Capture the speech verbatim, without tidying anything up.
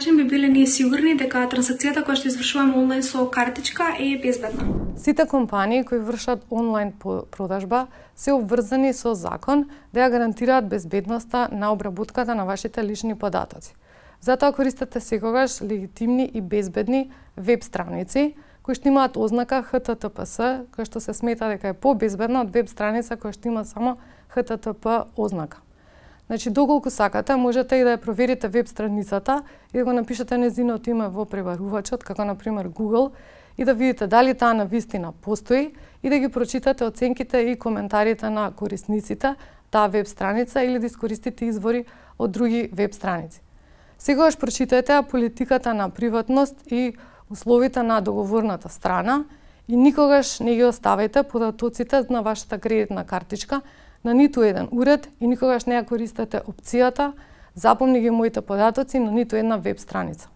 начин би биле ние сигурни дека трансакцијата која што извршуваме онлайн со картичка е безбедна? Сите компании кои вршат онлайн продажба се обврзани со закон да ја гарантираат безбедноста на обработката на вашите лични податоци. Затоа користете секогаш легитимни и безбедни веб страници кои што имаат ознака Х Т Т П С, која што се смета дека е побезбедна од веб страница која што има само Х Т Т П ознака. Значи, доколку сакате, можете и да ја проверите веб страницата и да го напишете нејзиното име во пребарувачот, како на пример Google, и да видите дали таа навистина постои и да ги прочитате оценките и коментарите на корисниците таа веб страница или да искористите извори од други веб страници. Сегогаш прочитајте политиката на приватност и условите на договорната страна и никогаш не ги оставајте податоците на вашата кредитна картичка на ниту еден уред и никогаш не ја користете опцијата "Запомни ги моите податоци" на ниту една веб страница.